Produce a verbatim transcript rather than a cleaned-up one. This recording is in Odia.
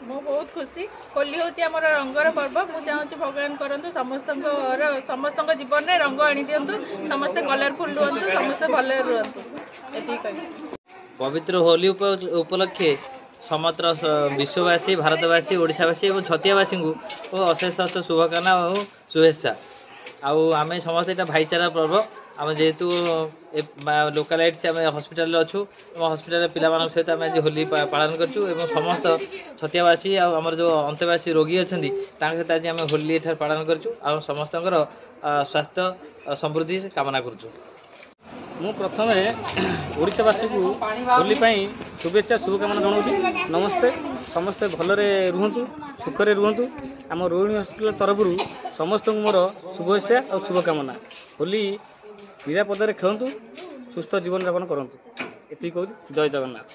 ମୁଁ ବହୁତ ଖୁସି। ହୋଲି ହେଉଛି ଆମର ରଙ୍ଗର ପର୍ବ। ମୁଁ ଚାହୁଁଛି ଭଗବାନ କରନ୍ତୁ ସମସ୍ତଙ୍କର, ସମସ୍ତଙ୍କ ଜୀବନରେ ରଙ୍ଗ ଆଣିଦିଅନ୍ତୁ, ସମସ୍ତେ କଲରଫୁଲ୍ ରୁହନ୍ତୁ, ସମସ୍ତେ ଭଲରେ ରୁହନ୍ତୁ, ଏତିକି କହିବି। ପବିତ୍ର ହୋଲି ଉପଲକ୍ଷେ ସମଗ୍ର ବିଶ୍ୱବାସୀ, ଭାରତବାସୀ, ଓଡ଼ିଶାବାସୀ ଏବଂ ଛତିଆବାସୀଙ୍କୁ ଅଶେଷ ଅଶେଷ ଶୁଭକାମନା ଓ ଶୁଭେଚ୍ଛା। ଆଉ ଆମେ ସମସ୍ତେ ଏଇଟା ଭାଇଚାରା ପର୍ବ। ଆମେ ଯେହେତୁ ଲୋକାଲାଇଟ୍ସ, ଆମେ ହସ୍ପିଟାଲରେ ଅଛୁ ଏବଂ ହସ୍ପିଟାଲରେ ପିଲାମାନଙ୍କ ସହିତ ଆମେ ଆଜି ହୋଲି ପାଳନ କରୁଛୁ ଏବଂ ସମସ୍ତ ଛତିଆବାସୀ ଆଉ ଆମର ଯେଉଁ ଅନ୍ତେବାସୀ ରୋଗୀ ଅଛନ୍ତି, ତାଙ୍କ ସହିତ ଆଜି ଆମେ ହୋଲି ଏଠାରେ ପାଳନ କରୁଛୁ ଆଉ ସମସ୍ତଙ୍କର ସ୍ୱାସ୍ଥ୍ୟ ସମୃଦ୍ଧି କାମନା କରୁଛୁ। ମୁଁ ପ୍ରଥମେ ଓଡ଼ିଶାବାସୀକୁ ହୋଲି ପାଇଁ ଶୁଭେଚ୍ଛା ଶୁଭକାମନା ଜଣାଉଛି। ନମସ୍ତେ। ସମସ୍ତେ ଭଲରେ ରୁହନ୍ତୁ, ସୁଖରେ ରୁହନ୍ତୁ। ଆମ ରୋହିଣୀ ହସ୍ପିଟାଲ ତରଫରୁ ସମସ୍ତଙ୍କୁ ମୋର ଶୁଭେଚ୍ଛା ଆଉ ଶୁଭକାମନା। ହୋଲି ନିରାପଦରେ ଖେଳନ୍ତୁ, ସୁସ୍ଥ ଜୀବନଯାପନ କରନ୍ତୁ, ଏତିକି କହୁଛି। ଜୟ ଜଗନ୍ନାଥ।